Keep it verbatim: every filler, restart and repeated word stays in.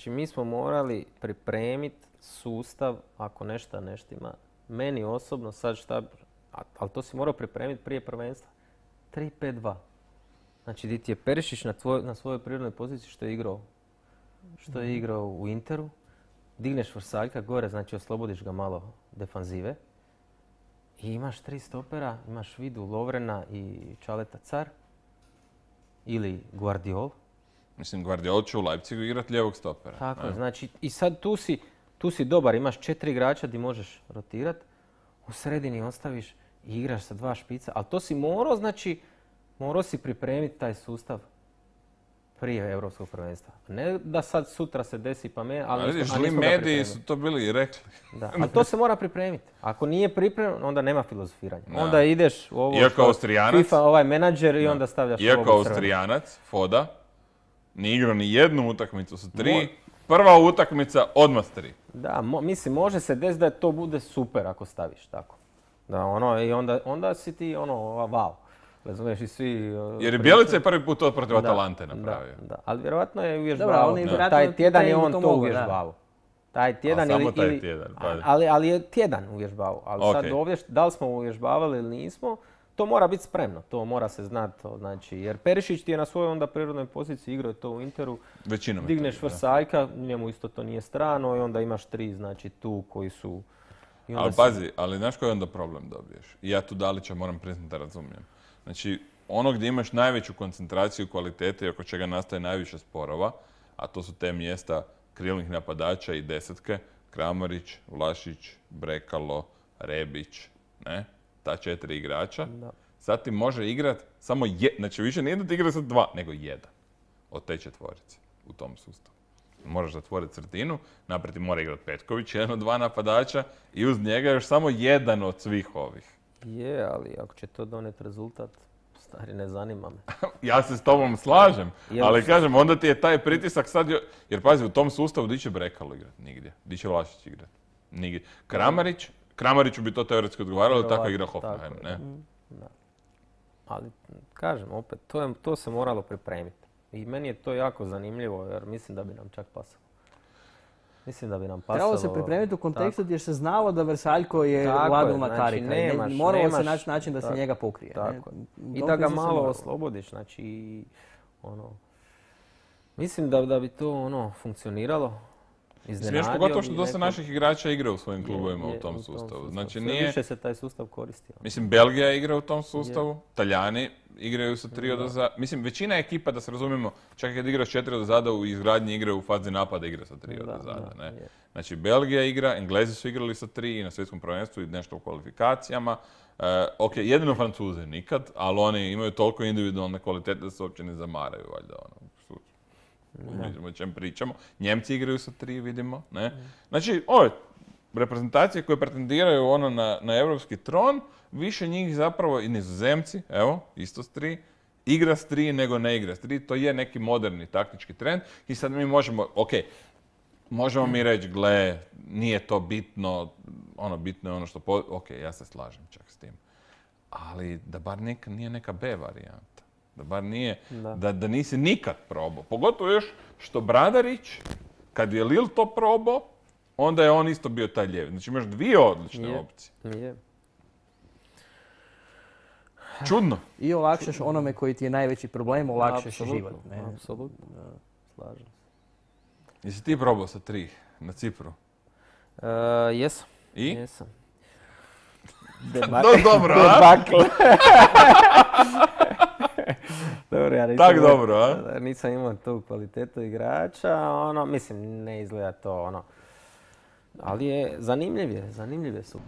Znači, mi smo morali pripremiti sustav ako nešto ne štima. Meni osobno sad šta, ali to si morao pripremiti prije prvenstva. tri pet dva. Znači, di ti je Perišić na, tvoj, na svojoj prirodnoj poziciji što je igrao, što je igrao u Interu. Digneš Vrsaljka gore, znači oslobodiš ga malo defanzive. I imaš tri stopera, imaš Vidu, Lovrena i Čaleta Car. Ili Guardiol. Mislim, Guardiol će u Leipzigu igrati lijevog stopera. Tako je, znači i sad tu si, tu si dobar, imaš četiri igrača gdje možeš rotirati. U sredini ostaviš i igraš sa dva špica, ali to si morao, znači, morao si pripremiti taj sustav prije Europskog prvenstva. Ne da sad sutra se desi pa me, ali ali nismo, zli nismo ga mediji pripremili. su to bili i rekli. Da, ali to se mora pripremiti. Ako nije pripremljeno, onda nema filozofiranja. Da. Onda ideš u ovo Iako što Austrijanac- FIFA, ovaj menadžer i Da. onda stavljaš Iako logo crveno. Austrijanac, Foda, nije igrao ni jednu utakmicu sa tri, Mo- prva utakmica odmah s tri. Da, mo, mislim, može se desiti da to bude super ako staviš tako. Da, ono, i onda, onda si ti, ono, wow. Razumiješ i svi... uh, Jer je pričaju. Bjelica je prvi put to protiv Da, Atalante da, napravio. Da, ali vjerovatno je Dobro, uvježbavao. on je Da. vjerojatno Taj tjedan je treningu on to to mogao, uvježbavao. Taj tjedan samo ili... taj ili- tjedan, pa. ali, ali je tjedan uvježbavao. Ali Ok. sad ovdje, da li smo uvježbavali ili nismo, to mora biti spremno. To mora se znati. Znači, jer Perišić ti je na svojoj onda prirodnoj poziciji igrao je to u Interu. Većinom je to Digneš bilo, da. Vrsaljka, njemu isto to nije strano i onda imaš tri, znači tu koji su... i onda Ali si- pazi, ali znaš koji onda problem dobiješ? I ja tu Dalića moram priznati da razumijem. Znači, ono gdje imaš najveću koncentraciju kvalitete i oko čega nastaje najviše sporova, a to su te mjesta krilnih napadača i desetke, Kramarić, Vlašić, Brekalo, Rebić, ne? Ta četiri igrača. Da. Sad ti može igrat samo je, znači više nije da ti igra sad dva, nego jedan od te četvorice u tom sustavu. Moraš zatvoriti crtinu, naprijed ti mora igrat Petković, jedan od dva napadača i uz njega još samo jedan od svih ovih. Je, ali ako će to doneti rezultat, stari, ne zanima me. Ja se s tobom slažem, Jel- ali kažem, onda ti je taj pritisak sad, jo- jer pazi, u tom sustavu di će Brekalo igrat? Nigdje. Di će Vlašić igrat? Nigdje. Kramarić, Kramariću bi to teoretski odgovaralo, ali tako igra Vjerovatno, Hoffenheim, tako ne? je. Da. Ali, kažem, opet, to, je, to se moralo pripremiti. I meni je to jako zanimljivo, jer mislim da bi nam čak pasalo. Mislim da bi nam pasalo... Trebalo se pripremiti u kontekstu tako. jer se znalo da Vrsaljko je Tako je, gladulna znači, karika. i ne- nemaš- Moralo se nemaš- naći način da se tako- njega pokrije. ne? Tako je. U I tom da ga smislu se malo moralo. oslobodiš, znači, i, ono... Mislim da, da bi to, ono, funkcioniralo. Mislim, još Iznenadio pogotovo što bi dosta neko- naših igrača igra u svojim Je, klubovima je, u tom sustavu. sustavu. Znači Sve nije... više se taj sustav koristio. Mislim, Belgija igra u tom sustavu, Talijani igraju sa tri Da. odozada. Mislim, većina ekipa, da se razumijemo, čak i kad igraš četiri odozada u izgradnji igre u fazi napada igra sa tri Da, odozada, da, ne? je. Znači, Belgija igra, Englezi su igrali sa tri i na svjetskom prvenstvu i nešto u kvalifikacijama. E, ok, jedino Francuze nikad, ali oni imaju toliko individualne kvalitete da se uopće ne zamaraju, valjda, ono, su- vidimo o čem pričamo. Njemci igraju sa tri, vidimo, ne? Znači, ove reprezentacije koje pretendiraju ono na, na europski tron, više njih zapravo, i Nizozemci, evo, isto s tri, igra s tri nego ne igra s tri. To je neki moderni taktički trend i sad mi možemo, ok, možemo mi reći, gle, nije to bitno, ono, bitno je ono što, po... ok, ja se slažem čak s tim. Ali da bar neka, nije neka B varijanta. Da bar nije, Da. da, da nisi nikad probao. Pogotovo još što Bradarić, kad je Lil to probao, onda je on isto bio taj lijevi. Znači imaš dvije odlične Je. opcije. Je. Čudno. I olakšaš onome koji ti je najveći problem, olakšaš Apsolutno, život. ne? apsolutno. Slažem se. Jesi ti probao sa tri na Cipru? E, jesam. I? Jesam. Do, dobro, a? Debakl. Dobro, ja nisam Tak imao- dobro, a? Nisam imao tu kvalitetu igrača, ono, mislim, ne izgleda to, ono. Ali je, zanimljiv je, zanimljive su.